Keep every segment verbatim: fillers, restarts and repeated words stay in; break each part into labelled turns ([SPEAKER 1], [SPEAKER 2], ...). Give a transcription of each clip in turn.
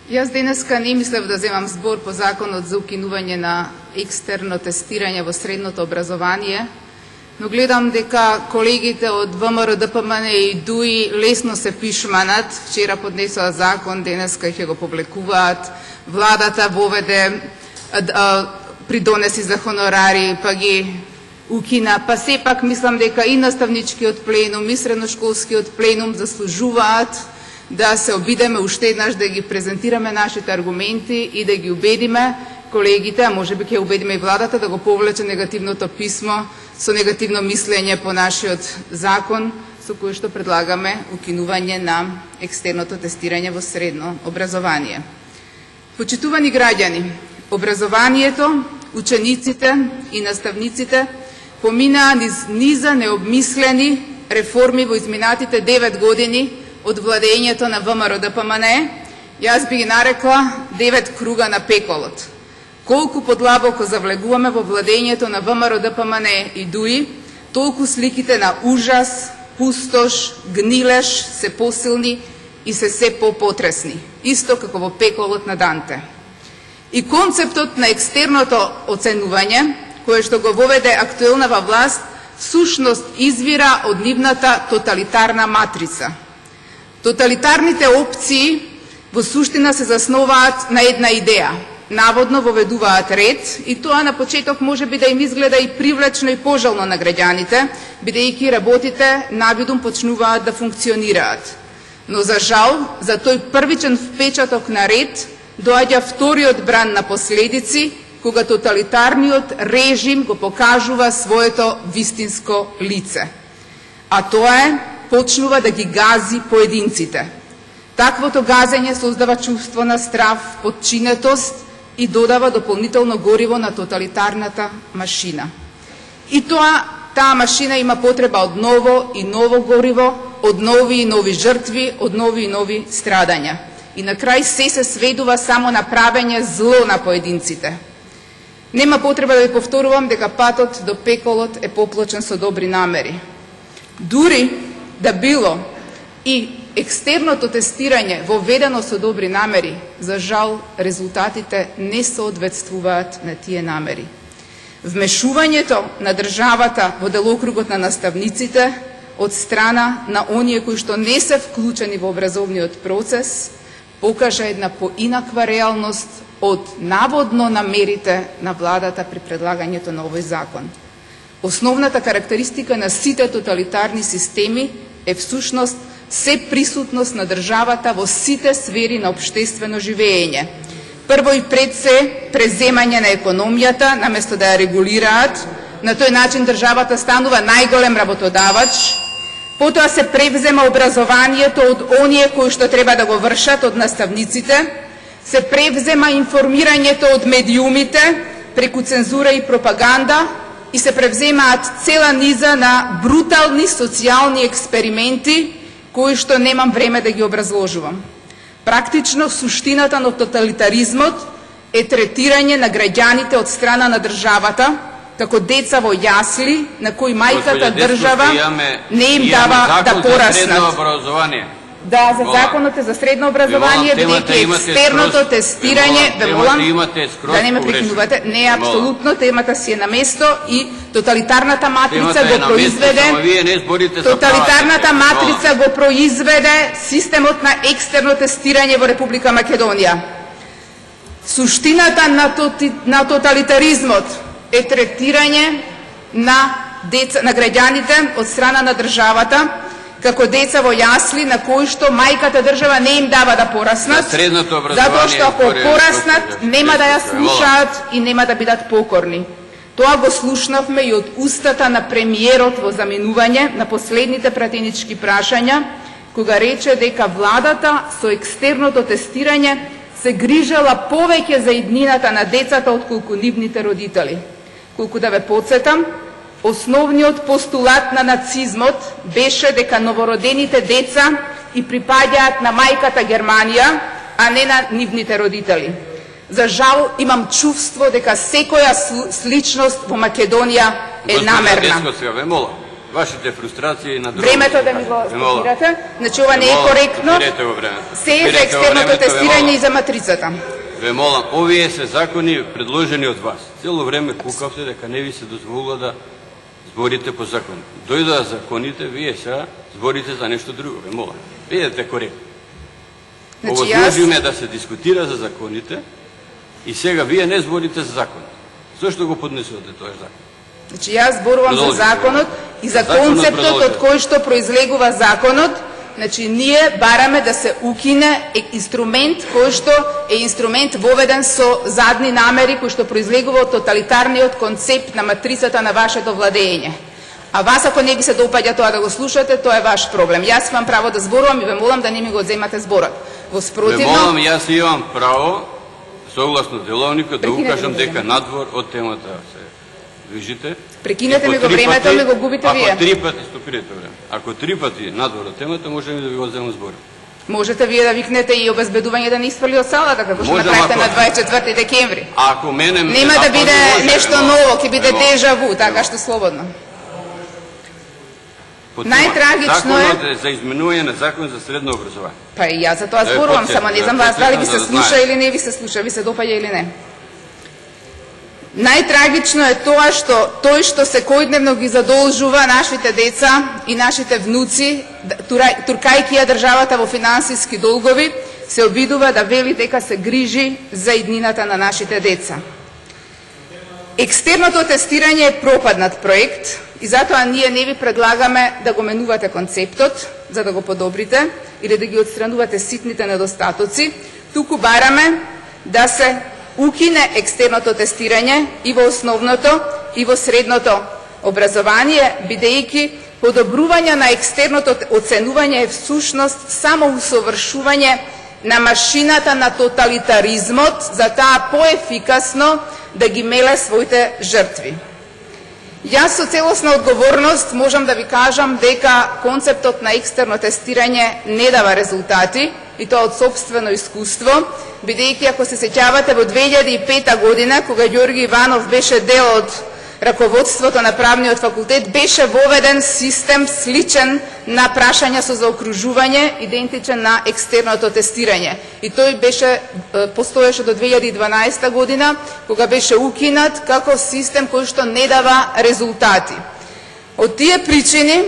[SPEAKER 1] Јас денеска не мислев да земам збор по законот за укинување на екстерно тестирање во средното образование, но гледам дека колегите од ВМРО-ДПМН и ДУИ лесно се пишманат. Вчера поднесоа закон, денеска ќе го публикуваат. Владата воведе придонеси за хонорари, па ги укина. Па сепак мислам дека и наставничкиот пленум, и средношколскиот пленум заслужуваат да се обидеме уште еднаш да ги презентираме нашите аргументи и да ги убедиме колегите, а може би ќе убедиме и владата да го повлече негативното писмо со негативно мислење по нашиот закон, со кој што предлагаме укинување на екстерното тестирање во средно образование. Почитувани граѓани, образованието, учениците и наставниците поминаа низ низа необмислени реформи во изминатите девет години од владењето на ВМРО-ДПМН. Јас би ги нарекла девет круга на пеколот. Колку подлабоко завлегуваме во владењето на ВМРО-ДПМН и ДУИ, толку сликите на ужас, пустош, гнилеш се посилни и се се попотресни, исто како во пеколот на Данте. И концептот на екстерното оценување, кое што го воведе актуелнава власт, сушност извира од нивната тоталитарна матрица. Тоталитарните опции во суштина се засноваат на една идеја. Наводно воведуваат ред и тоа на почеток може би да им изгледа и привлечно и пожелно на граѓаните, бидејќи работите навидум почнуваат да функционираат. Но за жал, за тој првичен впечаток на ред доаѓа вториот бран на последици, кога тоталитарниот режим го покажува своето вистинско лице. А тоа е почнува да ги гази поединците. Таквото газење создава чувство на страв, подчинетост и додава дополнително гориво на тоталитарната машина. И тоа, таа машина има потреба од ново и ново гориво, од нови и нови жртви, од нови и нови страдања. И на крај се се сведува само на правење зло на поединците. Нема потреба да ви повторувам дека патот до пеколот е поплачен со добри намери. Дури да било и екстерното тестирање воведено со добри намери, за жал резултатите не соодветствуваат на тие намери. Вмешувањето на државата во делокругот на наставниците од страна на оние кои што не се вклучени во образовниот процес покажа една поинаква реалност од наводно намерите на владата при предлагањето на овој закон. Основната карактеристика на сите тоталитарни системи е всушност се присутност на државата во сите сфери на општествено живење. Прво и пред се преземање на економијата, наместо да ја регулираат, на тој начин државата станува најголем работодавач. Потоа се превзема образованието од оние кои што треба да го вршат, од наставниците, се превзема информирањето од медиумите преку цензура и пропаганда и се превземаат цела низа на брутални социјални експерименти кои што немам време да ги образложувам. Практично суштината на тоталитаризмот е третирање на граѓаните од страна на државата како деца во јасли на кои мајката држава не им дава да пораснат. Да, за законот е за средно образование, бидејќи екстерното тестирање, ве молам, да не ме прекинувате, не е апсолутно, темата си е на место и тоталитарната матрица го произведе, тоталитарната матрица го произведе системот на екстерно тестирање во Република Македонија. Суштината на, тоти, на тоталитаризмот е третирање на, деца, на граѓаните од страна на државата, како деца во јасли на кои што мајката држава не им дава да пораснат, затоа што ако пораснат нема да ја слушаат и нема да бидат покорни. Тоа го слушнавме и од устата на премиерот во заминување на последните пратенички прашања, кога рече дека владата со екстерното тестирање се грижала повеќе за иднината на децата отколку нивните родители. Колку да ве потсетам, основниот постулат на нацизмот беше дека новородените деца и припаѓаат на мајката Германија, а не на нивните родители. За жал, имам чувство дека секоја сличност во Македонија е намерна.
[SPEAKER 2] вашите фрустрации на друго.
[SPEAKER 1] Времето да ми го стопирате. Значи ова не е коректно. Се е за екстерното тестирање и за матрицата.
[SPEAKER 2] Ве молам, овие се закони предложени од вас. Цело време кукавте дека не ви се дозволува да зборите по закон. Дојдоа законите, вие сега зборите за нешто друго. Ве молам, бидете коректни. Овозможиме да се дискутира за законите и сега вие не зборите за закон. Зошто го поднесувате тој закон?
[SPEAKER 1] Значи јас зборувам за законот и за концептот од кој што произлегува законот. Значи ние бараме да се укине инструмент кој што е инструмент воведен со задни намери, кој што произлегува од тоталитарниот концепт на матрицата на вашето владење. А вас ако не ви се допаѓа тоа да го слушате, тоа е ваш проблем. Јас имам право да зборувам и ве молам да не ми го одземате зборот. Во спротивно...
[SPEAKER 2] Ве молам, јас имам право, согласно деловникот, да укажам дека надвор од темата се движите.
[SPEAKER 1] Прекинете ми го времето, ми го губите вие.
[SPEAKER 2] Ако три пати, стопирате време. Ако три пати надвор од темата, можеме да ви го одземам зборот.
[SPEAKER 1] Можете вие да викнете и обезбедување да не испали од салата, како што направите на дваесет и четврти декември.
[SPEAKER 2] Ако мене
[SPEAKER 1] нема да биде нешто ново, ќе биде дежаву, така што слободно. Најтрагично е
[SPEAKER 2] законот за изменување на закон за средно образование.
[SPEAKER 1] Па и јас за тоа зборувам, само не знам вас дали ви се слуша или не ви се слуша, ви се допаѓа или не. Најтрагично е тоа што тој што секојдневно ги задолжува нашите деца и нашите внуци, туркајќи ја државата во финансиски долгови, се обидува да вели дека се грижи за иднината на нашите деца. Екстерното тестирање е пропаднат проект и затоа ние не ви предлагаме да го менувате концептот, за да го подобрите или да ги отстранувате ситните недостатоци, туку бараме да се укине екстерното тестирање и во основното и во средното образование, бидејќи подобрување на екстерното оценување е всушност само усовршување на машината на тоталитаризмот за таа поефикасно да ги меле своите жртви. Јас со целосна одговорност можам да ви кажам дека концептот на екстерно тестирање не дава резултати, и тоа од сопствено искуство, бидејќи ако се сеќавате во две илјади и пета година, кога Ѓорги Иванов беше дел од раководството на правниот факултет, беше воведен систем сличен на прашања со заокружување, идентичен на екстерното тестирање. И тој беше постоеше до две илјади и дванаесета година, кога беше укинат како систем кој што не дава резултати. Од тие причини,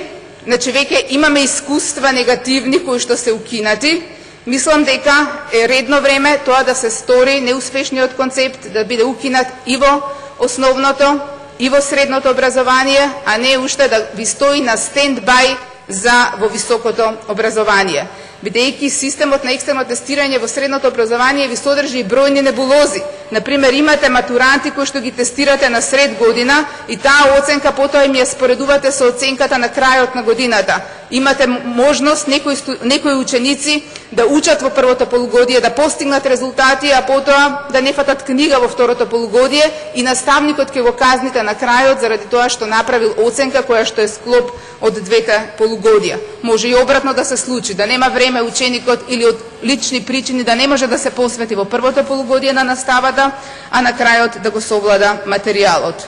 [SPEAKER 1] значи веќе имаме искуства негативни кои што се укинати. Мислам дека е редно време тоа да се стори, неуспешниот концепт да биде укинат и во основното и во средното образование, а не уште да ви стои на стенд-бај за во високото образование. Бидејќи системот на екстерно тестирање во средното образование ви содржи и бројни небулози. Например, имате матуранти кои што ги тестирате на сред година и таа оценка потоа им ја споредувате со оценката на крајот на годината. Имате можност некои, некои ученици да учат во првото полугодие, да постигнат резултати, а потоа да не фатат книга во второто полугодие и наставникот ќе го казните на крајот заради тоа што направил оценка која што е склоп од двете полугодија. Може и обратно да се случи, да нема време ученикот или од лични причини да не може да се посвети во првото полугодие на наставата, а на крајот да го совлада материјалот.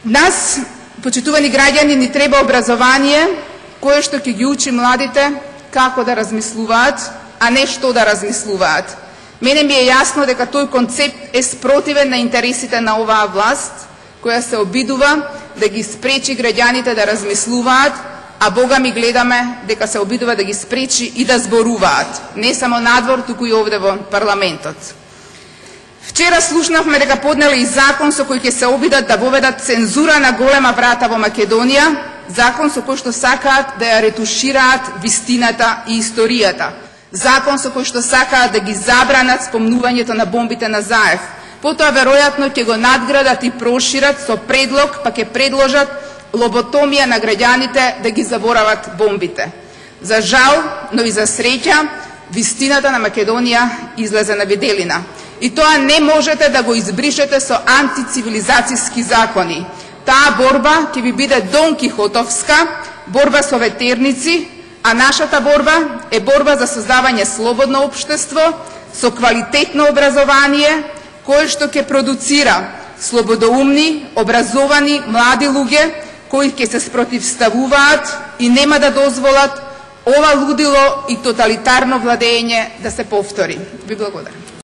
[SPEAKER 1] Нас, почитувани граѓани, ни треба образование кое што ќе ги учи младите како да размислуваат, а не што да размислуваат. Мене ми е јасно дека тој концепт е спротивен на интересите на оваа власт, која се обидува да ги спречи граѓаните да размислуваат, а Бога ми гледаме дека се обидува да ги спречи и да зборуваат, не само надвор, туку и овде во парламентот. Вчера слушнавме дека поднеле и закон со кој ќе се обидат да воведат цензура на голема врата во Македонија, закон со кој што сакаат да ја ретушираат вистината и историјата, закон со кој што сакаат да ги забранат спомнувањето на бомбите на Заев. Потоа веројатно ќе го надградат и прошират со предлог, па ќе предложат лоботомија на граѓаните да ги заборават бомбите. За жал, но и за среќа, вистината на Македонија излезе на виделина. И тоа не можете да го избришете со антицивилизацијски закони. Таа борба ќе ви биде донкихотовска, борба со ветерници, а нашата борба е борба за создавање слободно општество со квалитетно образование, кое што ќе продуцира слободоумни, образовани, млади луѓе, кои ќе се спротивставуваат и нема да дозволат ова лудило и тоталитарно владење да се повтори. Ви благодарам.